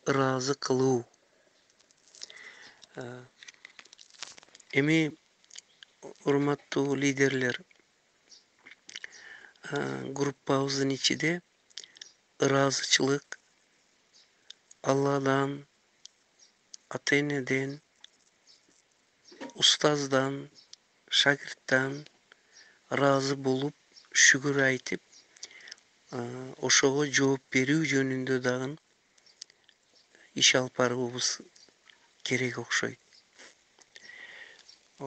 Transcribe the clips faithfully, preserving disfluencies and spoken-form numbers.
ыраазы кылуу. Эми урматтуу лидерлер, группабыздын ичинде ыраазычылык Алладан, ата-энеден, устаздан, шакирттен ыраазы болуп, шүгүр айтып, ошого жооп берүү жөнүндө дагы иш алып баруубуз керек окшойт.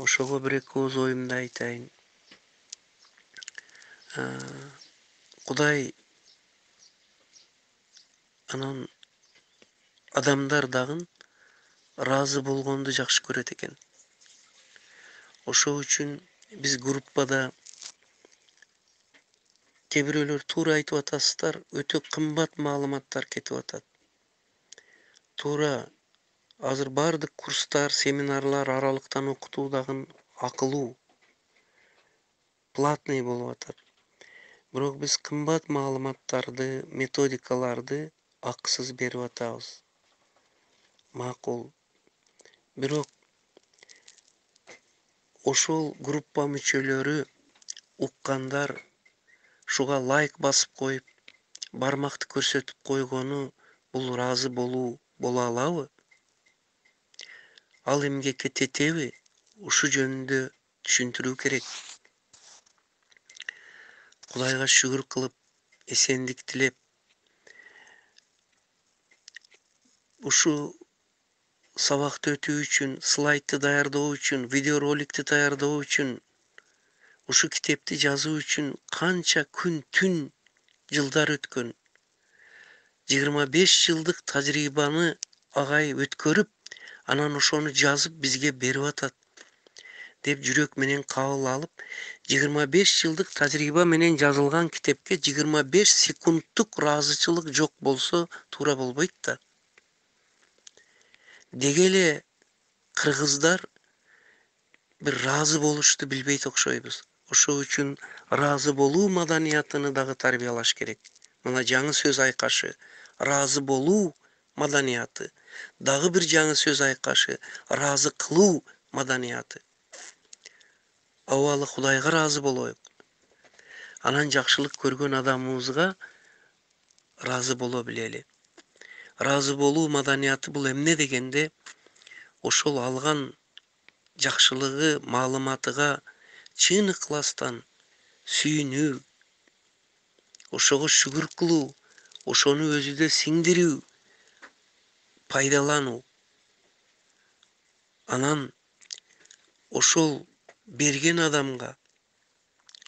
Ошого бир эки ооз оюмду айтайын. Кудай анан адамдар дагы ыраазы болгонду жакшы көрөт экен. Ошол үчүн биз группада кээ бирөөлөр туура айтып атасыздар, өтө кымбат маалыматтар кетип атат. Туура азыр баардык курстар, семинарлар аралыктан окутуу дагы акылуу, платный болуп атат. Бирок биз кымбат маалыматтарды, методикаларды акысыз берип атабыз. Макул. Бирок ошол группа мүчөлөрү, уккандар ушуга лайк басып коюп, бармакты көрсөтүп койгону бул ыраазы болуу боло алабы? Ал эмгекке тетеби? Ушу жөнүндө түшүндүрүү керек. Кудайга шүгүр кылып, эсендик тилеп, ушу сабакты өтүү үчүн, слайдты даярдоо үчүн, видеороликти даярдоо үчүн, ушу китепти жазуу үчүн канча күн, түн, жылдар өткөн. жыйырма беш жылдык тажрыйбаны агай өткөрүп, анан ошону жазып бизге берип атат деп жүрөк менен кабыл алып, жыйырма беш жылдык тажрыйба менен жазылган китепке жыйырма беш секундтук ыраазычылык жок болсо туура болбойт да. Деги эле кыргыздар бир ыраазы болушту билбейт окшойбуз. Ошол үчүн ыраазы болуу маданиятыны дагы тарбиялаш керек. Мына жаңы сөз айкашы, ыраазы болуу маданияты. Дагы бир жаңы сөз айкашы, ыраазы кылуу маданияты. Абалы Кудайга ыраазы болоюк. Анан жакшылык көргөн адамыбызга ыраазы боло билели. Ыраазы болуу маданияты бул эмне дегенде, ошол алган жакшылыгы, маалыматыга чын ыкластан сүйүнүү, ошого шүгүр кылуу, ошону өзүдө сиңдирүү, пайдалануу. Анан ошол берген адамга,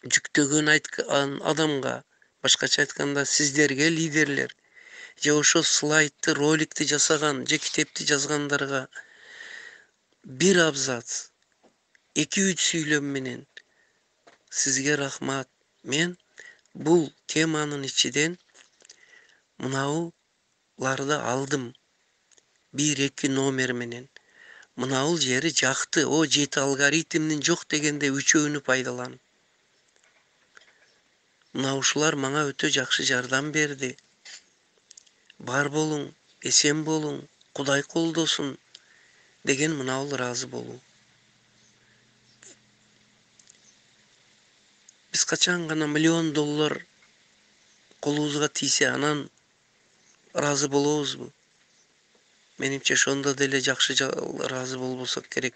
жүктөгөн айткан адамга, башкача айтканда сиздерге лидерлер, же ошо слайдты, роликти жасаган, же китепти жазгандарга бир абзац, эки үч сүйлөм менен сизге рахмат. Мен бул теманын ичинен мынауларды алдым. бир эки номер менен. Мынаул жери жакты. О, жети алгоритмдин жок дегенде үчөөнү пайдалан. Мына ушулар мага өтө жакшы жардам берди. Бар болуң, эсен болуң, Кудай колдосун деген мынаул ыраазы болуу. Биз качан гана миллион доллар колубузга тийсе, анан ыраазы болобузбу? Менимче ошондо деле жакшы ыраазы болбосок керек.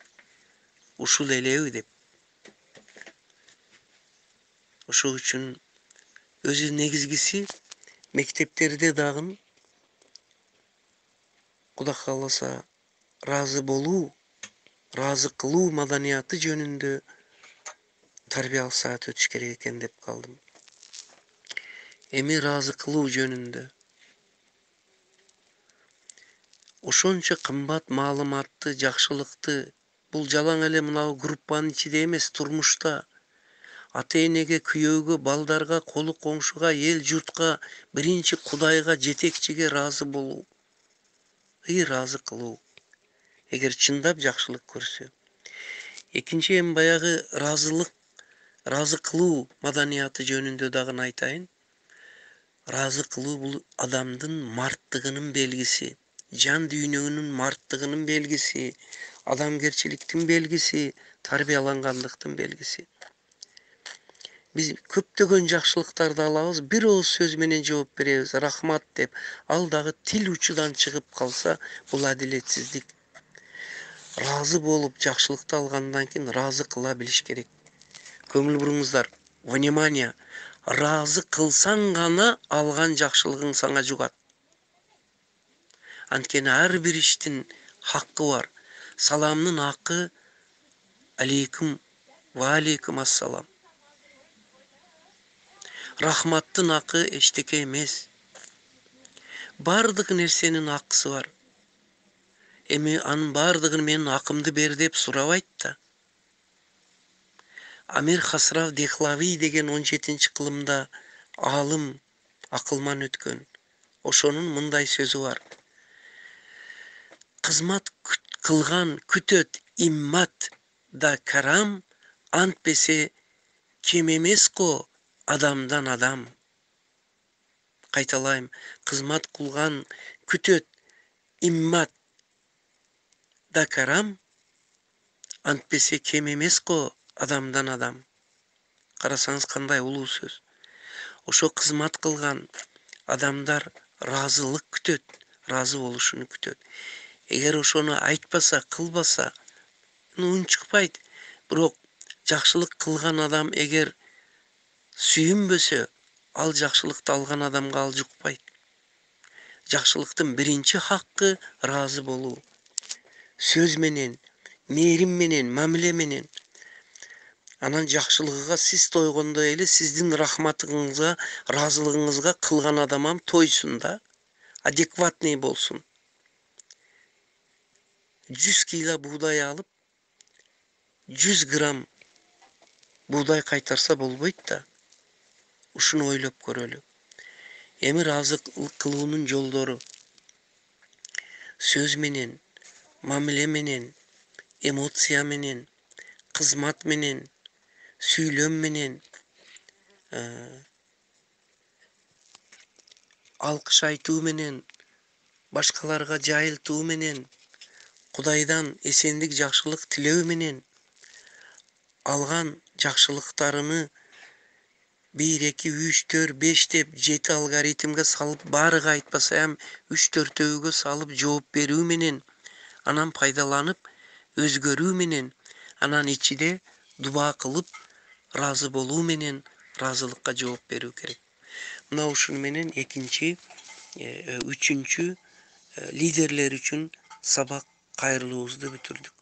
Ушул элеби деп. Ошол үчүн өзү негизгиси мектептерде дагы Кудай кааласа ыраазы болуу, ыраазы кылуу маданияты жөнүндө тарбиялык саат өтүш керек экен деп калдым. Эми ыраазы кылуу жөнүндө ошончо кымбат маалыматты, жакшылыкты бул жалаң эле мынау группанын ичинде эмес, турмушта ата-энеге, күйөөгө, балдарга, колу коңшуга, эл журтка, биринчи Кудайга, жетекчиге ыраазы болуу, ыраазы кылуу. Эгер чындап жакшылык көрсө. Экинчи эми баягы ыраазылык, ыраазы кылуу маданияты жөнүндө дагы айтайын. Ыраазы кылуу бул адамдын марттыгынын белгиси. жан дүйнөгүнүн марттыгынын белгиси, адамгерчиликтин белгиси, тарбиялангандыктын белгиси. Биз көптөгөн жакшылыктарды алабыз, бир ооз сөз менен жооп беребиз, рахмат деп. Ал дагы тил учудан чыгып калса, бул адилетсиздик. Разы болуп жакшылыкты алгандан кийин разы кыла билиш керек. Көңүл буруңуздар. Внимание. Разы кылсаң гана алган жакшылыгың сага жугат. Анткени ар бир иштин хаккы бар. Саламдын хаккы алейкум ва алейкум ассалам. Рахматтын хакы эчтеке эмес. Бардык нерсенин хакысы бар. Эми анын бардыгын менин акымды бер деп сурабайт да. Амир Хасрав Дехлави деген он жетинчи кылымда алым, акылман өткөн. Ошонун мындай сөзү бар. Кызмат кылган күтөт иммат да карам, антпесе кем эмес го адамдан адам. Кайталайм, кызмат кылган күтөт иммат да карам, антпесе кем эмес го адамдан адам. Карасаңыз кандай улуу сөз. Ошо кызмат кылган адамдар разылык күтөт, разы болушуну күтөт. Эгер ошону айтпаса, кылбаса, үн чыкпайт. Бирок жакшылык кылган адам эгер сүйүнбөсө, ал жакшылыкты алган адамга ал жукпайт. Жакшылыктын биринчи хаккы разы болуу. Сөз менен, мээрим менен, мамиле менен. Анан жакшылыгыга сиз тойгондой эле сиздин рахматыңызга, разылыгыңызга кылган адамам тойсун да. Адекватный болсун. жүз кило буудай алып, жүз грамм буудай кайтарса болбойт да. Ушуну ойлоп көрөлү. Эми разылык кылуунун жолдору. Сөз менен, мамиле менен, эмоция менен, кызмат менен, сүйлөм менен, алкыш айтуу менен, башкаларга жайылтуу менен, Кудайдан эсендик жакшылык тилөө менен, алган жакшылыктарыны бир, эки, үч, төрт, беш деп жети алгоритмге салып, барыга айтпаса ham үч төртөөгө салып жооп берүү менен, анан пайдаланып, өзгөрүү менен, анан ичиде дуба кылып, разы болуу менен разылыкка жооп берүү керек. Мына ушуну менен экинчи, үчүнчү лидерлер үчүн сабак кайрылуубузду бүтүрдүк.